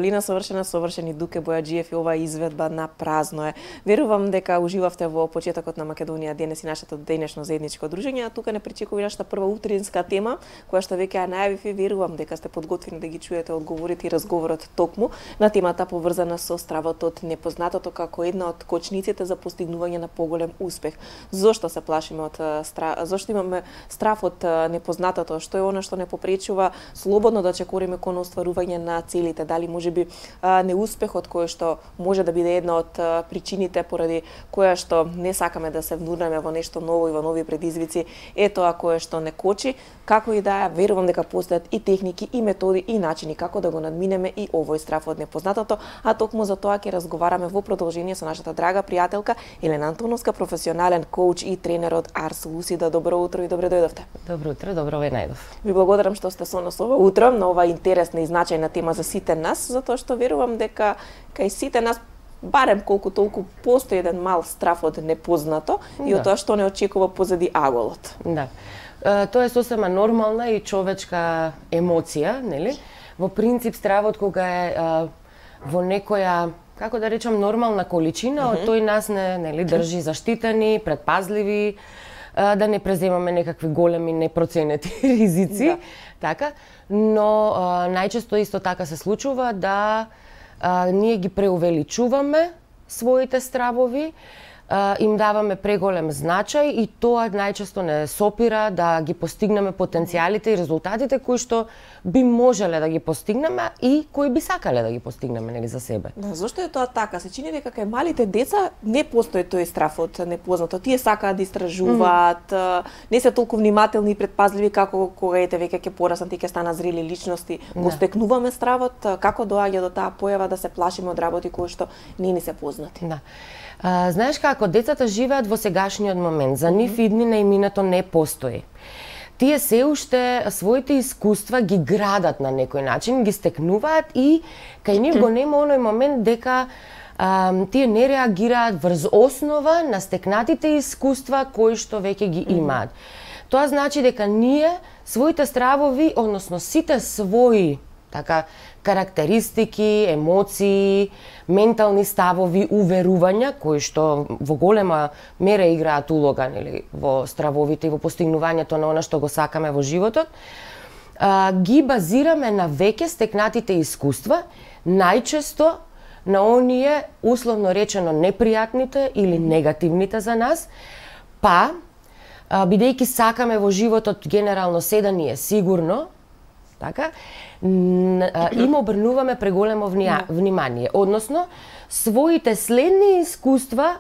Лина совршени Дуке Бојаджиев и оваа изведба на празно е. Верувам дека уживавте во почетокот на Македонија денес и нашето денешно заедничко дружење, а тука не пречекува нашата прва утринска тема, која што веќе ја најавив и верувам дека сте подготвени да ги чуете одговорите и разговорот токму на темата поврзана со стравот од непознатото како една од кочниците за постигнување на поголем успех. Зошто се плашиме од зошто имаме страв од непознатото? Што е она што не попречува слободно да чекориме кон остварување на целите? Дали можеби неуспехот кој што може да биде една од причините поради која што не сакаме да се внурнеме во нешто ново и во нови предизвици, е тоа кое што не кочи. Како и да е, верувам дека постојат и техники, и методи, и начини како да го надминеме и овој страф од непознатото, а токму за тоа ќе разговараме во продолжение со нашата драга пријателка Елена Антоновска, професионален коуч и тренер од Арс Лусида. Добро утро и добре дојдовте. Добро утро, добро ве најдов. Ви благодарам што сте со нас ова утро на оваа интересна и значајна тема за сите нас, затоа што верувам дека кај сите нас барем колку толку постои еден мал страф од непознато и од тоа што не очекува позади аголот. Да. Тоа е сосема нормална и човечка емоција, нели? Во принцип стравот кога е во некоја, како да речам, нормална количина, од тој нас нели држи заштитени, предпазливи, да не преземаме некакви големи непроценети ризици, така, но најчесто исто така се случува да ние ги преувеличуваме своите стравови, им даваме преголем значај и тоа најчесто не сопира да ги постигнеме потенцијалите и резултатите кои што би можеле да ги постигнеме и кои би сакале да ги постигнеме нели за себе. Да, зошто е тоа така? Се чини дека кај малите деца не постои тој страф од непознато. Тие сакаат да истражуваат, не се толку внимателни и предпазливи како кога ете веќе ќе пораснат и ќе станат зрели личности. Го стекнуваме стравот, како доаѓа до таа појава да се плашиме од работи кои што не ни се познати. Да. Знаеш како, децата живеат во сегашниот момент, за нив иднина и минато не постои. Тие се уште своите искуства ги градат на некој начин, ги стекнуваат и кај нив го нема оној момент дека тие не реагираат врз основа на стекнатите искуства кои што веќе ги имаат. Тоа значи дека ние своите стравови, односно сите своји така карактеристики, емоции, ментални ставови, уверувања кои што во голема мера играат улога нели во стравовите и во постигнувањето на она што го сакаме во животот, ги базираме на веќе стекнатите искуства, најчесто на оние условно речено непријатните или негативните за нас, па бидејќи сакаме во животот генерално се да ни е сигурно, така, им обрнуваме преголемо внимание. Односно, своите следни искуства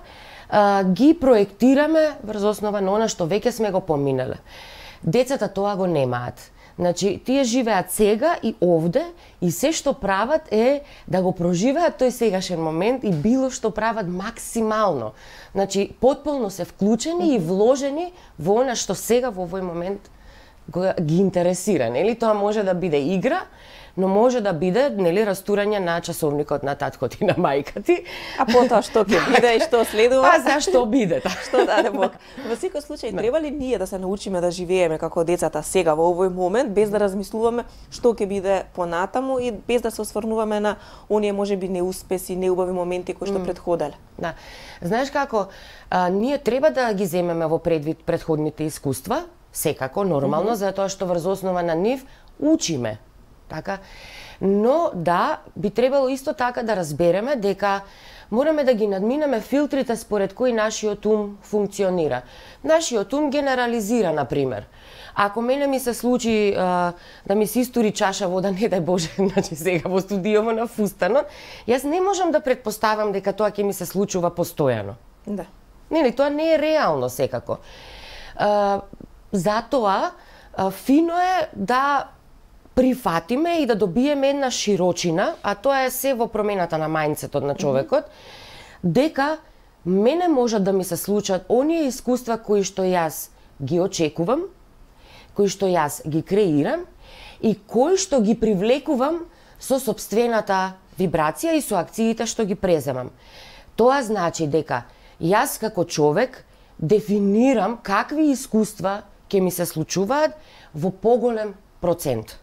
ги проектираме врз основа на она што веќе сме го поминале. Децата тоа го немаат. Значи, тие живеат сега и овде и се што прават е да го проживеат тој сегашен момент и било што прават максимално. Значи, потполно се вклучени и вложени во она што сега во овој момент ги интересира, нели? Тоа може да биде игра, но може да биде нели растурање на часовникот на таткот и на мајка ти. А потоа што ќе биде и што следува? А зашто биде така? Што даде Бог? Во секој случај треба ли ние да се научиме да живееме како децата сега во овој момент без да размислуваме што ќе биде понатаму и без да се осврнуваме на оние можеби неуспеси, неубави моменти кои што претходеле? Да. Знаеш како, ние треба да ги земеме во предвид претходните искуства, секако, нормално, затоа што врз основа на нив учиме. Така? Но да, би требало исто така да разбереме дека мораме да ги надминеме филтрите според кои нашиот ум функционира. Нашиот ум генерализира, например. Ако мене ми се случи да ми се истори чаша вода, не дај Боже, значи сега во студиово на фустанот, јас не можам да претпоставам дека тоа ќе ми се случува постојано. Да. Нели, тоа не е реално секако. Затоа, фино е да прифатиме и да добиеме една широчина, а тоа е се во промената на мајндсетот на човекот, дека мене можат да ми се случат оние искуства кои што јас ги очекувам, кои што јас ги креирам и кои што ги привлекувам со сопствената вибрација и со акциите што ги преземам. Тоа значи дека јас како човек дефинирам какви искуства ќе ми се случуваат во поголем процент.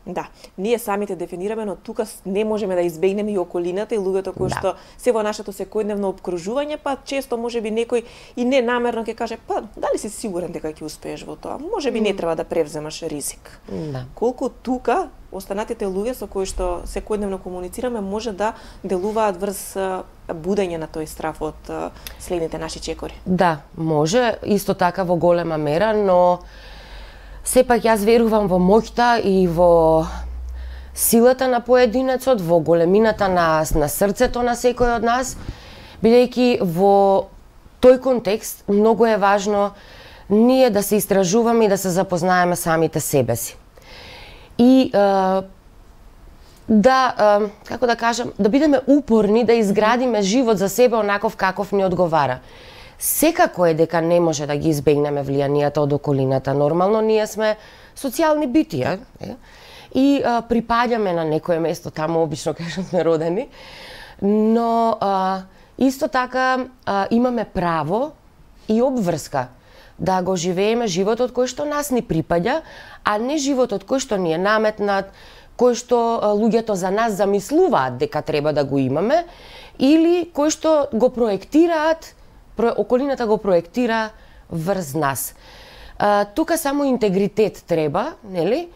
Да, ние самите дефинираме, но тука не можеме да избегнеме и околината и луѓето кои што се во нашето секојдневно опкружување, па често можеби некој и ненамерно ќе каже, па дали си сигурен дека ќе успееш во тоа? Можеби не треба да превземаш ризик. Да. Колку тука останатите луѓе со кои што секојдневно комуницираме може да делуваат врз будење на тој страф од следните наши чекори. Да, може, исто така во голема мера, но сепак јас верувам во моќта и во силата на поединецот, во големината на срцето на секој од нас, бидејќи во тој контекст многу е важно ние да се истражуваме и да се запознаеме самите себе си. И како да кажам, да бидеме упорни да изградиме живот за себе онаков каков ни одговара. Секако е дека не може да ги избегнеме влијанијата од околината. Нормално ние сме социјални битија и припаѓаме на некое место таму, обично кај што сме родени, но исто така имаме право и обврска да го живееме животот кој што нас ни припаѓа, а не животот кој што ни е наметнат, кој што луѓето за нас замислуваат дека треба да го имаме, или кој што го проектираат, околината го проектира врз нас. Тука само интегритет треба, нели?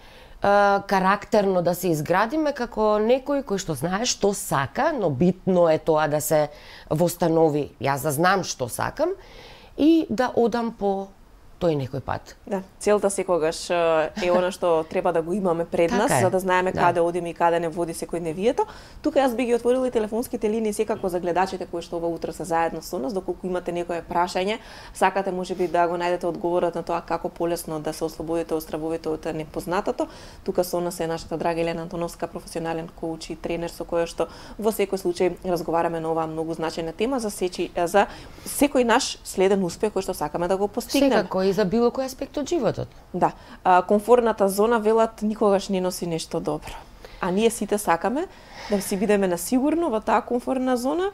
Карактерно да се изградиме како некој кој што знае што сака, но битно е тоа да се востанови, јас да знам што сакам и да одам по тој некој пат. Да, целта секогаш е она што треба да го имаме пред нас, за да знаеме каде одиме и каде не води секојдневието. Тука јас би ги отворила и телефонските линии секако за гледачите кои што ова утро се заедно со нас, доколку имате некое прашање, сакате можеби да го најдете одговорот на тоа како полесно да се ослободите од стравовите од непознатото. Тука со нас е нашата драга Елена Антоновска, професионален коуч и тренер со која што во секој случај разговараме на оваа многу значајна тема за секој наш следен успех кој што сакаме да го постигнеме. Секако и за било кој аспект од животот. Да, комфорната зона велат никогаш не носи нешто добро. А ние сите сакаме да си бидеме на сигурно во таа комфортна зона,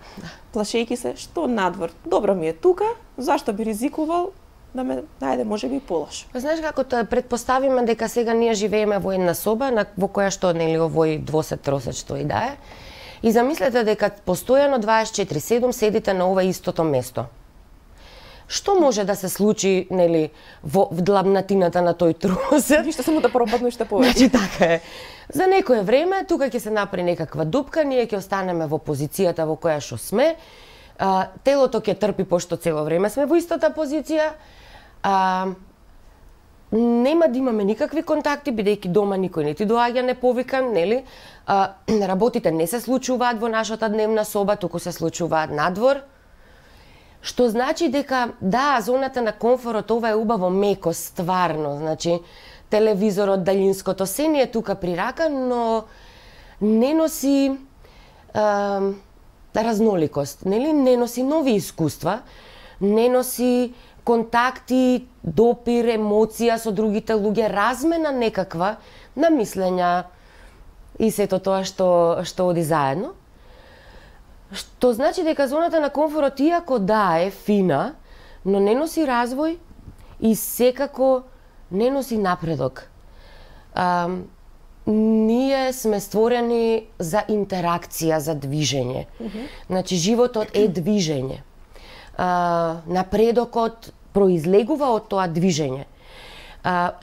плашејќи се што надвор. Добро ми е тука, зашто би ризикувал да ме најде можеби полошо. Знаеш како предпоставиме дека сега ние живееме во една соба во која што нели овој двосет тросет што и да е. И замислете дека постојано 24/7 седите на ова истото место. Што може да се случи, нели, во длабнатината на тој тросет? Ништо само да пропадне што повеќе. Значи така е. За некое време тука ќе се направи некаква дупка, ние ќе останеме во позицијата во која што сме. Телото ќе трпи пошто цело време сме во истата позиција. Нема да имаме никакви контакти, бидејќи дома никој не ти доаѓа неповикан, нели? Работите не се случуваат во нашата дневна соба, туку се случуваат надвор. Што значи дека, да, зоната на комфорот, ова е убаво меко, стварно, значи, телевизорот, далинското, се ни е тука при рака, но не носи разноликост, нели? Не носи нови искуства, не носи контакти, допир, емоција со другите луѓе, размена некаква на мислења и сето тоа што оди заедно. Што значи дека зоната на комфорот, иако да е фина, но не носи развој и секако не носи напредок. Ние сме створени за интеракција, за движење. Значи, животот е движење. Напредокот произлегува од тоа движење.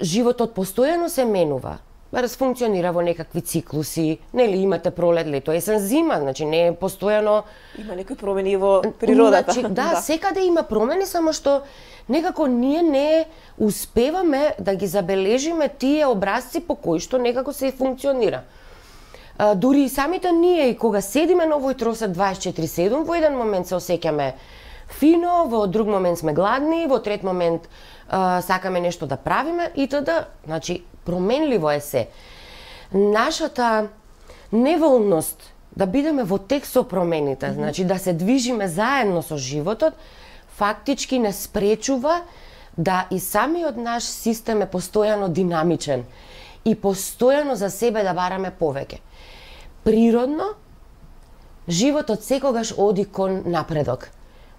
Животот постојано се менува. Функционира во некакви циклуси, нели имате пролет, лето, есен, зима, значи не е постојано. Има некои промени во природата. Значи, да, секаде има промени, само што некако ние не успеваме да ги забележиме тие образци по кои што некако се функционира. Дури и самите ние, и кога седиме на овој тросет 24/7, во еден момент се осеќаме фино, во друг момент сме гладни, во трет момент сакаме нешто да правиме и т.д. Значи, променливо е се. Нашата неволност да бидеме во тек со промените, значи да се движиме заедно со животот, фактички не спречува да и самиот наш систем е постојано динамичен и постојано за себе да бараме повеќе. Природно, животот секогаш оди кон напредок.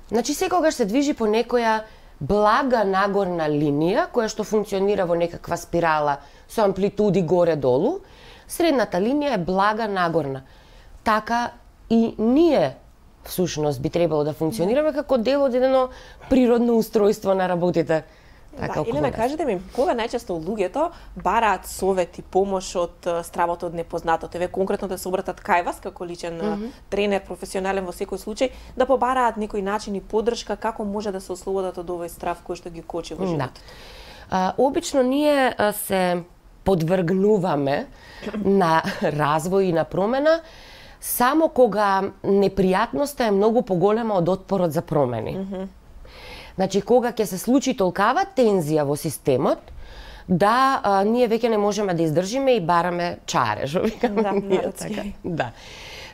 Значи, секогаш се движи по некоја блага нагорна линија, која што функционира во некаква спирала со амплитуди горе-долу, Средната линија е блага нагорна. Така и ние всушност би требало да функционираме како дел од едно природно устройство на работите. Така, Елена, кажете ми, кога најчесто луѓето бараат совет и помош од стравото од непознатото? Еве конкретно да се обратат кај вас како личен тренер, професионален во секој случај, да побараат некој начин и поддршка како може да се ослободат од овој страв кој што ги кочи во животот. Обично ние се подвргнуваме на развој и на промена само кога непријатноста е многу поголема од отпорот за промени. Значи, кога ќе се случи толкава тензија во системот, да ние веќе не можеме да издржиме и бараме чаре, што викаме ние така. Да.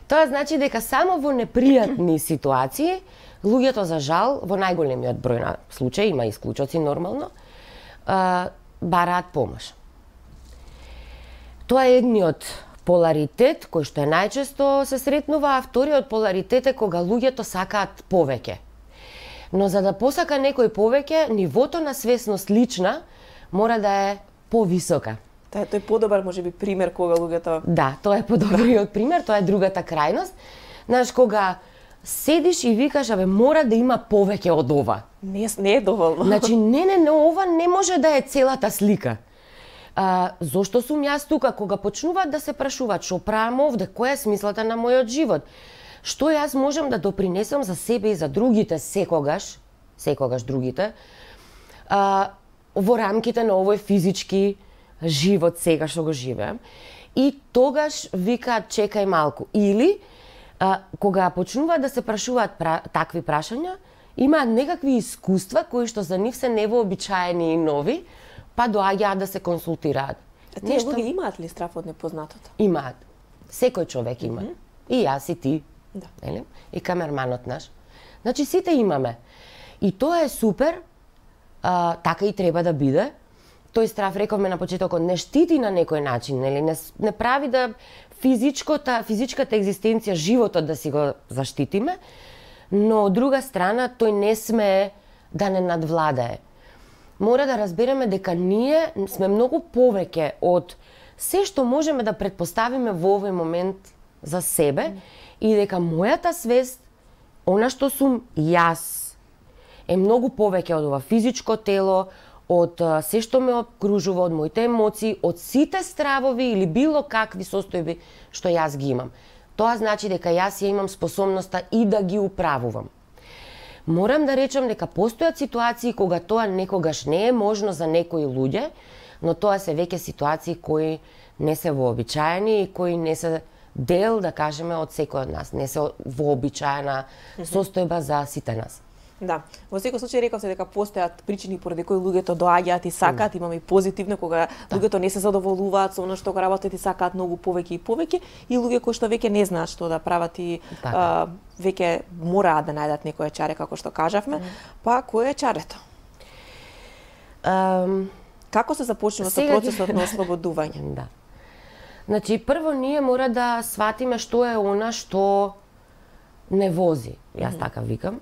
Тоа значи дека само во непријатни ситуации, луѓето за жал, во најголемиот број на случаи, има исклучоци нормално, бараат помош. Тоа е едниот поларитет кој што е најчесто се сретнува, а вториот поларитет е кога луѓето сакаат повеќе. Но за да посака некој повеќе, нивото на свесност лична мора да е повисока. Тој е подобар можеби пример кога луѓето. Да, тоа е подобриот пример, тоа е другата крајност. Знаеш, кога седиш и викаш, абе, мора да има повеќе од ова. Не е доволно. Значи, не, ова не може да е целата слика. Зошто сум јас тука? Кога почнуваат да се прашуваат што правам овде, која е смислата на мојот живот? Што јас можам да допринесам за себе и за другите секогаш другите, во рамките на овој физички живот сега што го живеам. И тогаш викаат чекај малку. Или, кога почнуваат да се прашуваат такви прашања, имаат некакви искуства кои што за нив се невообичаени и нови, па доаѓаат да се консултираат. Тие луѓе имаат ли страф од непознатото? Имаат. Секој човек има. И јас и ти. Да. И камерманот наш. Значи сите имаме. И тоа е супер, така и треба да биде. Тој страф, рековме на почетокот, не штити на некој начин, нели? Не прави да физичката екзистенција, животот да си го заштитиме, но од друга страна тој не смее да не надвладае. Мора да разбереме дека ние сме многу повеќе од се што можеме да претпоставиме во овој момент за себе и дека мојата свест, она што сум јас, е многу повеќе од ова физичко тело, од се што ме окружува, од моите емоции, од сите стравови или било какви состојби што јас ги имам. Тоа значи дека јас ја имам способноста и да ги управувам. Морам да речам дека постојат ситуации кога тоа некогаш не е можно за некои луѓе, но тоа се веќе ситуации кои не се вообичаени и кои не се дел, да кажеме, од секој од нас. Не се вообичаена состојба за сите нас. Да, во секој случај рековте дека постојат причини поради кои луѓето доаѓаат и сакаат, имаме и позитивно кога луѓето не се задоволуваат со она што го работат и сакаат многу повеќе и повеќе, и луѓе кои што веќе не знаат што да прават и веќе мораат да најдат некое чаре, како што кажавме. Па кој е чарето? Како се започнува со процесот на ослободување? Да. Значи, прво ние мора да сватиме што е она што не вози, јас така викам.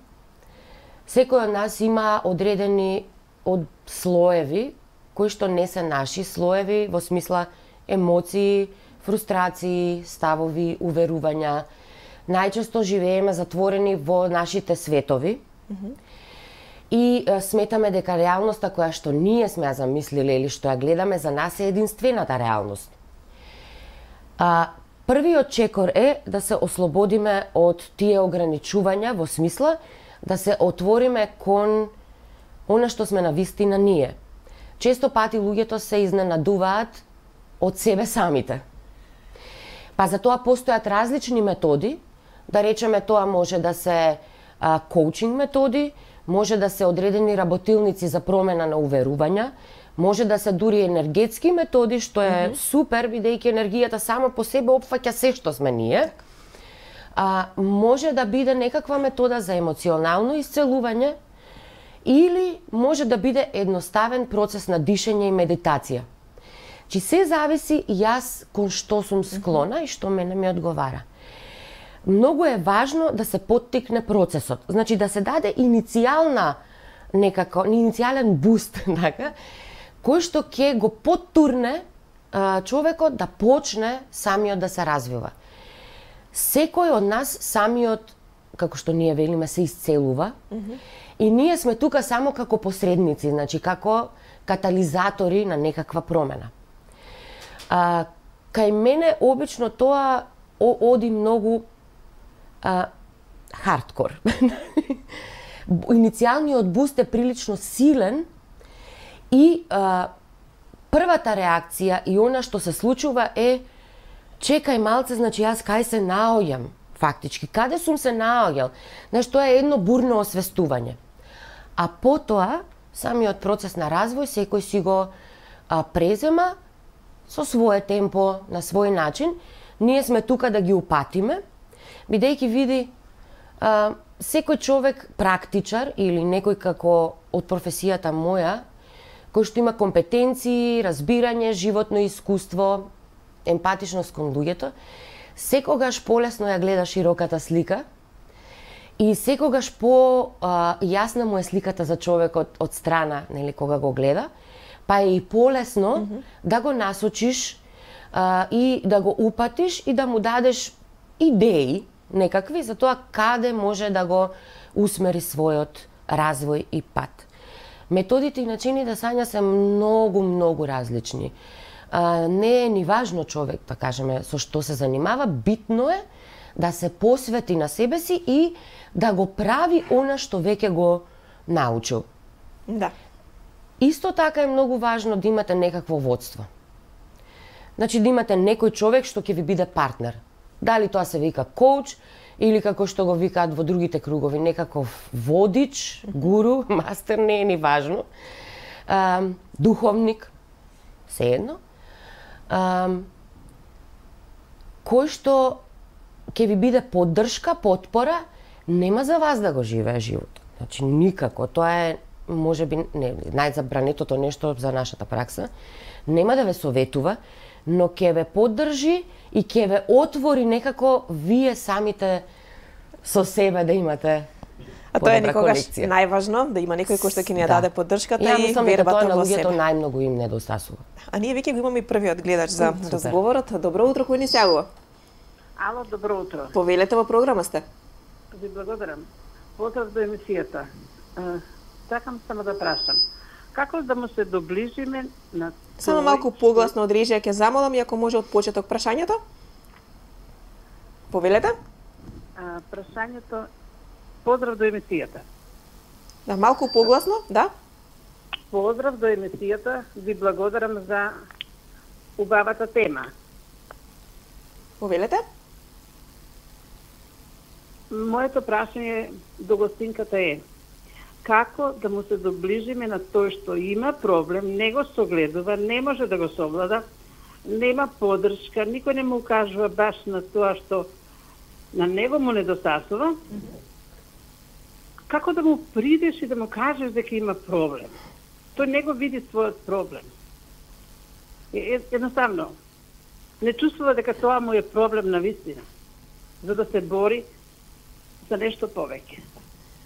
Секој од нас има одредени слоеви, кои што не се наши слоеви, во смисла емоции, фрустрации, ставови, уверувања. Најчесто живееме затворени во нашите светови и сметаме дека реалноста која што ние сме ја замислиле или што ја гледаме за нас е единствената реалност. Првиот чекор е да се ослободиме од тие ограничувања во смисла да се отвориме кон она што сме навистина ние. Често пати луѓето се изненадуваат од себе самите. Па за тоа постојат различни методи, да речеме тоа може да се коучинг методи, може да се одредени работилници за промена на уверувања, може да се дури енергетски методи, што е супер, бидејќи енергијата само по себе опфаќа се што сме ние. Може да биде некаква метода за емоционално исцелување или може да биде едноставен процес на дишење и медитација. Чи се зависи јас кон што сум склона и што мене ми одговара. Многу е важно да се поттикне процесот, значи да се даде иницијален буст, така, кој што ќе го поттурне човекот да почне самиот да се развива. Секој од нас самиот, како што ние велиме, се исцелува, и ние сме тука само како посредници, значи како катализатори на некаква промена. Кај мене обично тоа оди многу хардкор. Иницијалниот буст е прилично силен и првата реакција и она што се случува е чекај малце, значи јас кај се наоѓам фактички, каде сум се наоѓал. Значи тоа е едно бурно освестување. А потоа самиот процес на развој секој си го презема со свое темпо, на свој начин. Ние сме тука да ги упатиме, бидејќи види секој човек практичар или некој како од професијата моја, кој што има компетенции, разбирање, животно искуство, емпатичност кон луѓето, секогаш полесно ја гледа широката слика и секогаш јасна му е сликата за човекот од страна, нели, кога го гледа, па е и полесно да го насочиш и да го упатиш и да му дадеш идеи некакви за тоа каде може да го усмери својот развој и пат. Методите и начини да сања се многу различни. Не е ни важно човек, да кажеме, со што се занимава, битно е да се посвети на себе си и да го прави она што веќе го научил. Да. Исто така е многу важно да имате некакво водство. Значи да имате некој човек што ќе ви биде партнер. Дали тоа се вика коуч или како што го викаат во другите кругови, некаков водич, гуру, мастер, не е ни важно. Духовник, сеедно. Кој што ќе ви биде поддршка, потпора, нема за вас да го живее животот. Значи никако, тоа е можеби најзабранетото нешто за нашата пракса. Нема да ве советува, но ќе ве поддржи и ќе ве отвори некако вие самите со себе да имате. А тоа е никогаш најважно, да има некој кој што ќе ни ја даде поддршката и вербата во себе. Тоа на луѓето најмногу им недостасува. А ние веќе го имаме и првиот гледач за разговорот. Добро утро, кој ни се јавува? Ало, добро утро. Повелете, во програма сте. Ви благодарам. Поздрав до емисијата. Сакам само да прашам. Како да му се доближиме на Само малку погласно од режија ќе замолам и ако може од почеток прашањето. Повелете? Прашањето, поздрав до емисијата. Да, малку погласно, да? Поздрав до емисијата, ви благодарам за убавата тема. Повелете? Моето прашање до гостинката е како да му се доближиме на тој што има проблем, не го согледува, не може да го совлада, нема поддршка, никој не му кажува баш на тоа што на него му недостасува. Како да му придеш и да му кажеш дека има проблем? Тој не го види својот проблем. Едноставно, не чувствува дека тоа му е проблем на вистина, за да се бори за нешто повеќе.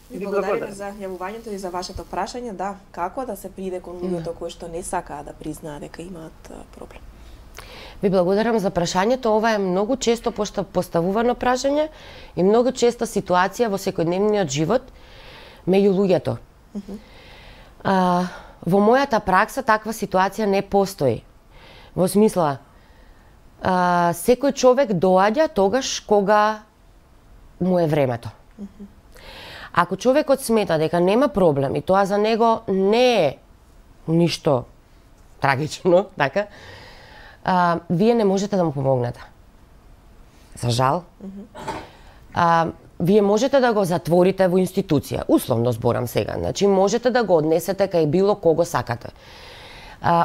Ви благодарам за јавувањето и за вашето прашање. Да, како да се приде кон луѓето кои што не сакаат да признаат дека имаат проблем? Ви благодарам за прашањето. Ова е многу често поставувано прашање и многу честа ситуација во секојдневниот живот меѓу луѓето. Во мојата пракса таква ситуација не постои. Во смисла, секој човек доаѓа тогаш кога му е времето. Ако човекот смета дека нема проблем и тоа за него не е ништо трагично, така, вие не можете да му помогнете. За жал. Вие можете да го затворите во институција, условно зборам сега, значи можете да го однесете кај било кого сакате.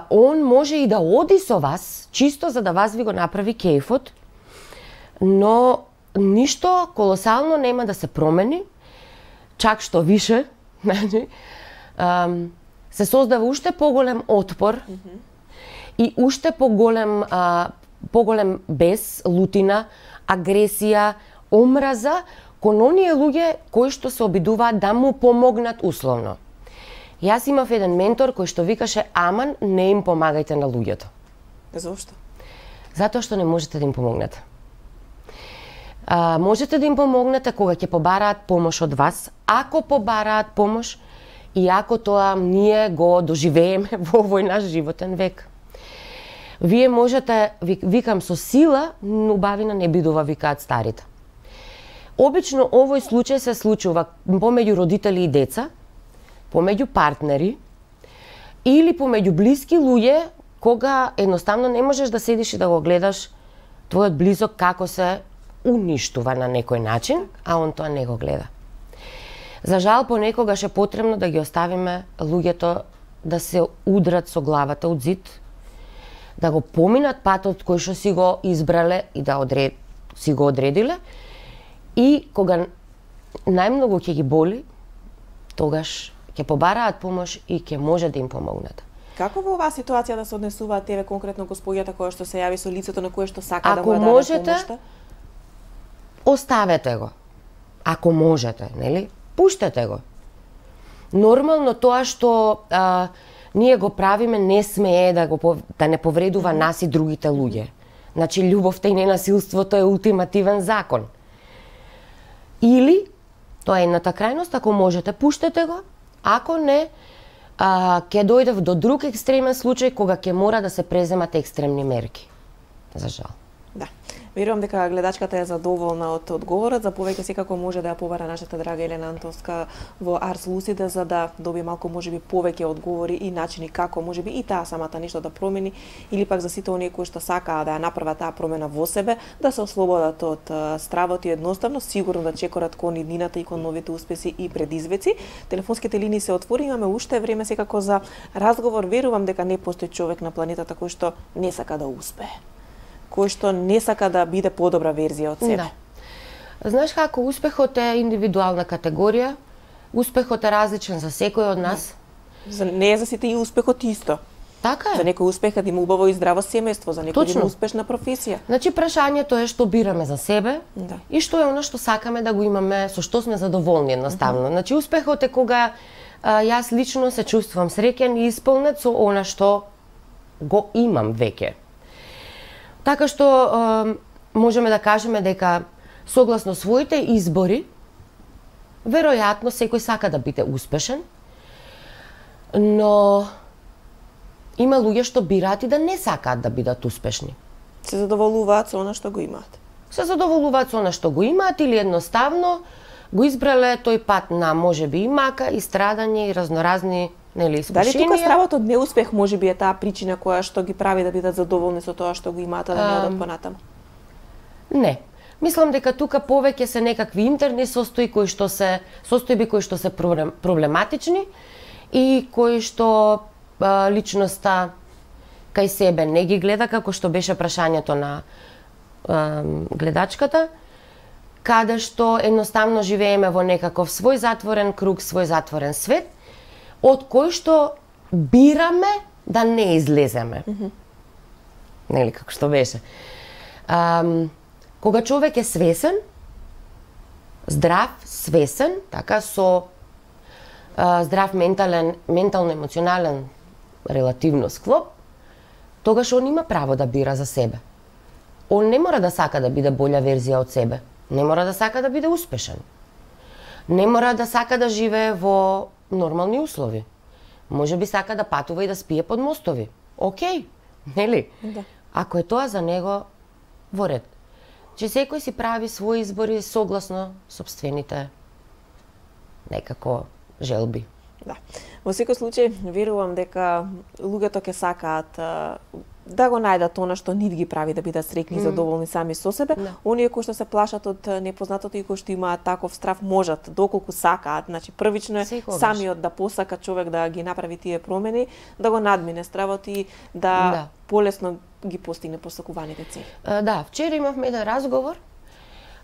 Он може и да оди со вас, чисто за да вас ви го направи кејфот, но ништо колосално нема да се промени, чак што више, значи, се создава уште поголем отпор и уште поголем бес, лутина, агресија, омраза кон оние луѓе кои што се обидуваат да му помогнат условно. Јас имав еден ментор кој што викаше: аман, не им помагајте на луѓето. Зошто? Затоа што не можете да им помогнете. Можете да им помогнете кога ќе побараат помош од вас, ако побараат помош и ако тоа ние го доживееме во овој наш животен век. Вие можете, викам со сила, но убавина не бидува, викаат старите. Обично овој случај се случува помеѓу родители и деца, помеѓу партнери или помеѓу блиски луѓе, кога едноставно не можеш да седиш и да го гледаш твојот близок како се уништува на некој начин, а он тоа не го гледа. За жал, понекогаш е потребно да ги оставиме луѓето да се удрат со главата од зид, да го поминат патот кој што си го избрале и да си го одредиле, и кога најмногу ќе ги боли, тогаш ќе побараат помош и ќе може да им помогнете. Како во оваа ситуација да се однесуваат еве конкретно госпоѓата која што се јави со лицето на кое што сака да му даде помошта? Ако можете, оставете го. Ако можете, нели? Пуштете го. Нормално тоа што ние го правиме не смее да не повредува нас и другите луѓе. Значи, љубовта и ненасилството е ултимативен закон. Или, тоа е едната крајност, ако можете, пуштете го. Ако не, ќе дојде до друг екстремен случај кога ќе мора да се преземат екстремни мерки. За жал. Да. Верувам дека гледачката е задоволна од одговорот. За повеќе секако може да ја побара нашата драга Елена Антовска во Арс Лусиде, за да добие малку можеби повеќе одговори и начини како можеби и таа самата нешто да промени, или пак за сите оние кои што сакаат да ја направат таа промена во себе, да се ослободат од стравот и едноставно сигурно да чекорат кон иднината и кон новите успеси и предизвици. Телефонските линии се отвори, имаме уште време секако за разговор. Верувам дека не постои човек на планетата кој што не сака да успее, кој што не сака да биде подобра верзија од себе. Да. Знаеш како, успехот е индивидуална категорија, успехот е различен за секој од нас. Не е за сите и успехот исто. Така е. За некој успех да има убаво и здраво семејство, за некој да има успешна професија. Значи, прашањето е што бираме за себе, и што е она што сакаме да го имаме, со што сме задоволни едноставно. Значи, успехот е кога јас лично се чувствувам среќен и исполнет со она што го имам веќе. Така што можеме да кажеме дека согласно своите избори, веројатно секој сака да биде успешен, но има луѓе што бираат и да не сакаат да бидат успешни. Се задоволуваат со она што го имаат. Се задоволуваат со она што го имаат или едноставно го избрале тој пат на можеби и мака, и страдање, и разноразни искушенија. Дали тука стравот од неуспех можеби е таа причина која што ги прави да бидат задоволни со тоа што го имаат, а да не одат понатаму? Не. Мислам дека тука повеќе се некакви интерни состојби кои што се проблематични и кои што личноста кај себе не ги гледа, како што беше прашањето на гледачката, каде што едноставно живееме во некаков свој затворен круг, свој затворен свет, од кој што бираме да не излеземе. Нели, како што беше. Кога човек е свесен, здрав, свесен, така, со здрав ментално-емоционален релативно склоп, тогаш он има право да бира за себе. Он не мора да сака да биде болја верзија од себе. Не мора да сака да биде успешен. Не мора да сака да живее во нормални услови. Може би сака да патува и да спие под мостови. Океј, нели? Да. Ако е тоа за него, во ред. Че секој си прави своји избори согласно сопствените некако желби. Да. Во секој случај, верувам дека луѓето ќе сакаат да го најдат она што нив ги прави да бидат среќни и задоволни сами со себе. Оние кои што се плашат од непознатото и кои што имаат таков страв можат, доколку сакаат. Значи, првично е самиот да посака човек да ги направи тие промени, да го надмине стравот и да полесно ги постигне посакуваните цели. Да, вчера имавме еден разговор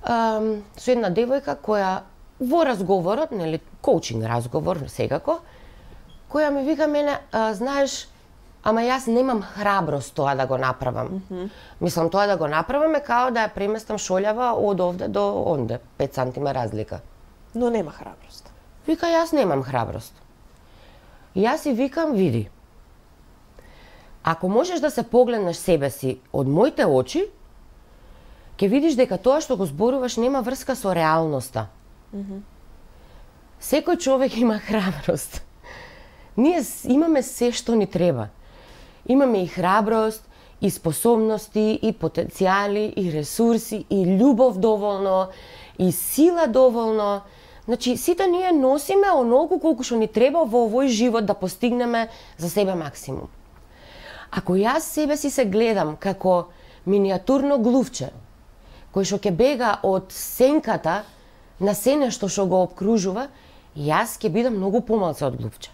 со една девојка која во разговорот, нели, коучинг разговор секако, која ми вика мене, знаеш, ама јас немам храброст тоа да го направам. Мислам, тоа да го направам е као да ја преместам шолјава од овде до онде, 5 сантима разлика. Но нема храброст. Вика, јас немам храброст. Јас и викам, види, Ако можеш да се погледнеш себе си од моите очи, ќе видиш дека тоа што го зборуваш нема врска со реалноста. Секој човек има храброст. Ние имаме се што ни треба. Имаме и храброст, и способности, и потенцијали, и ресурси, и љубов доволно, и сила доволно. Значи, сите ние носиме онолку колку што ни треба во овој живот да постигнеме за себе максимум. Ако јас себе си се гледам како миниатурно глувче, кој што ќе бега од сенката на се нешто што го обкружува, јас ќе бидам многу помалце од глувче.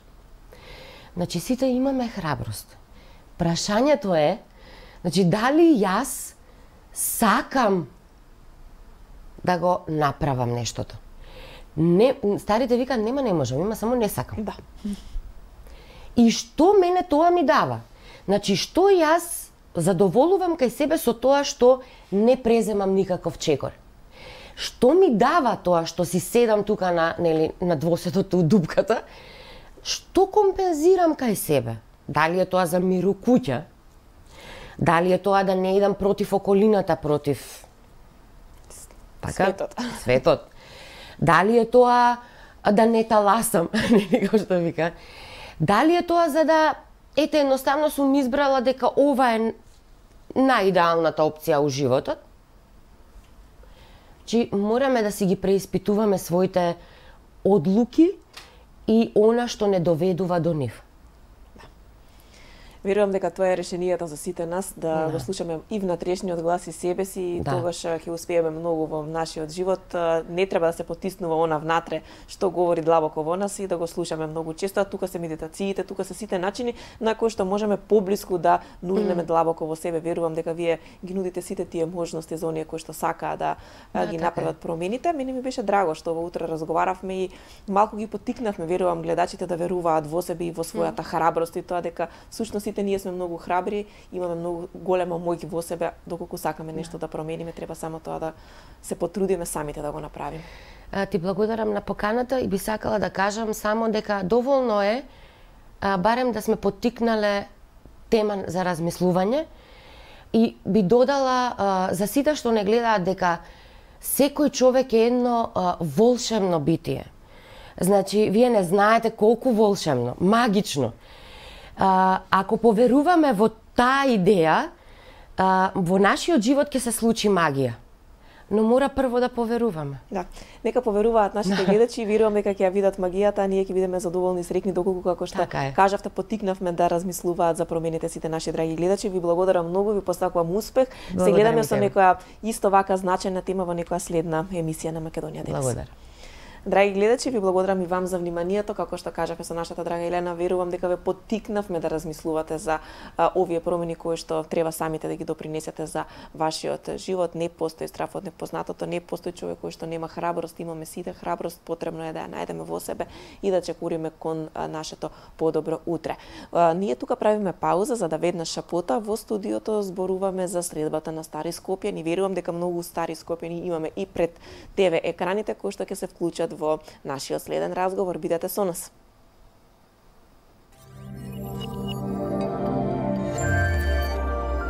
Значи, сите имаме храброст. Прашањето е, значи, дали јас сакам да го направам нештото? Не, старите викаат, нема не можам, има само не сакам. Да. И што мене тоа ми дава? Значи, што јас задоволувам кај себе со тоа што не преземам никаков чекор? Што ми дава тоа што си седам тука на двоседото у дупката? Што компензирам кај себе? Дали е тоа за мир у куќа? Дали е тоа да не идам против околината, против светот? Дали е тоа да не таласам, како што вика? Дали е тоа за да, ете, едноставно сум избрала дека ова е најидеалната опција у животот? Чи мораме да си ги преиспитуваме своите одлуки и она што не доведува до нив. Верувам дека тоа е решението за сите нас, да го слушаме и внатрешниот глас и себе си, и тогаш ќе успееме многу во нашиот живот. Не треба да се потиснува она внатре што говори длабоко во нас и да го слушаме многу често. Тука се медитациите, тука се сите начини на кои што можеме поблиску да нурнеме длабоко во себе. Верувам дека вие ги нудите сите тие можности за оние кои што сакаат да ги направат промените. Мене ми беше драго што во утре разговаравме и малку ги поттикнавме, верувам, гледачите да веруваат во себе и во својата храброст и тоа дека всушност ние сме многу храбри, имаме многу голема моќ во себе, доколку сакаме нешто да промениме, треба само тоа да се потрудиме самите да го направиме. Ти благодарам на поканата и би сакала да кажам само дека доволно е барем да сме поттикнале тема за размислување и би додала за сите што не гледаат дека секој човек е едно волшебно битие. Значи, вие не знаете колку волшебно, магично. Ако поверуваме во таа идеја, во нашиот живот ќе се случи магија. Но мора прво да поверуваме. Да, нека поверуваат нашите гледачи и верувам дека ќе ја видат магијата, а ние ќе бидеме задоволни и среќни доколку како што кажавте, поттикнавме да размислуваат за промените сите наши драги гледачи. Ви благодарам многу, ви посакувам успех. Се гледаме со некоја исто вака значајна тема во некоја следна емисија на Македонија денес. Благодарам. Драги гледачи, ви благодарам и вам за вниманието, како што кажавме со нашата драга Елена, верувам дека ве поттикнавме да размислувате за овие промени кои што треба самите да ги допринесете за вашиот живот. Не постои страф од непознатото, не постои човек кој што нема храброст, имаме сите храброст, потребно е да ја најдеме во себе и да чекуриме кон нашето подобро утре. Ние тука правиме пауза за да веднаш шапота во студиото зборуваме за средбата на Стари Скопјани. Верувам дека многу стари Скопјани имаме и пред ТВ екраните кои што ќе се вклучат во нашиот следен разговор. Бидете со нас.